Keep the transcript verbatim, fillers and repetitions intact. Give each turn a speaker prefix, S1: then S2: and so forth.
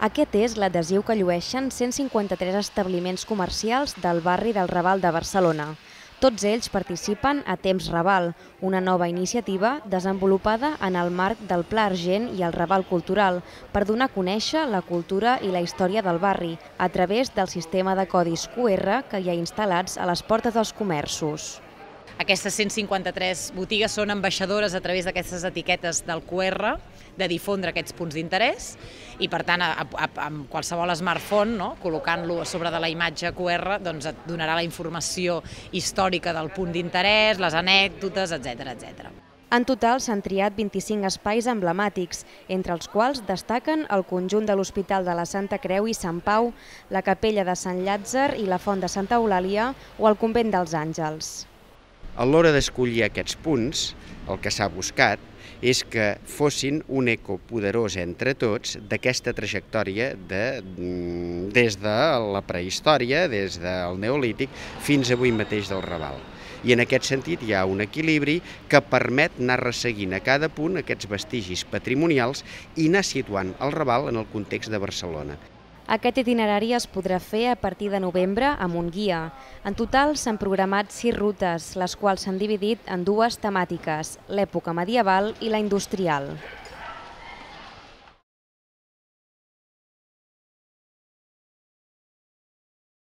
S1: Aquest és l'adhesiu que llueixen cent cinquanta-tres establiments comercials del barri del Raval de Barcelona. Tots ells participen a Temps Raval, una nova iniciativa desenvolupada en el marc del Pla Argent i el Raval Cultural per donar a conèixer la cultura i la història del barri a través del sistema de codis Q R que hi ha instal·lats a les portes dels comerços.
S2: Aquestes cent cinquanta-tres botigues són ambaixadores a través d'aquestes etiquetes del Q R, de difondre aquests punts d'interès i, per tant, a, a, amb qualsevol smartphone, no, col·locant-lo a sobre de la imatge Q R, doncs et donarà la informació històrica del punt d'interès, les anècdotes, etcètera, etcètera.
S1: En total s'han triat vint-i-cinc espais emblemàtics, entre els quals destaquen el conjunt de l'Hospital de la Santa Creu i Sant Pau, la Capella de Sant Llàtzer i la Font de Santa Eulàlia o el Convent dels Àngels.
S3: A l'hora d'escollir aquests punts, el que s'ha buscat és que fossin un eco poderós entre tots d'aquesta trajectòria de, des de la prehistòria, des del Neolític, fins avui mateix del Raval. I en aquest sentit hi ha un equilibri que permet anar resseguint a cada punt aquests vestigis patrimonials i anar situant el Raval en el context de Barcelona.
S1: Aquest itinerari es podrà fer a partir de novembre amb un guia. En total s'han programat sis rutes, les quals s'han dividit en dues temàtiques, l'època medieval i la industrial.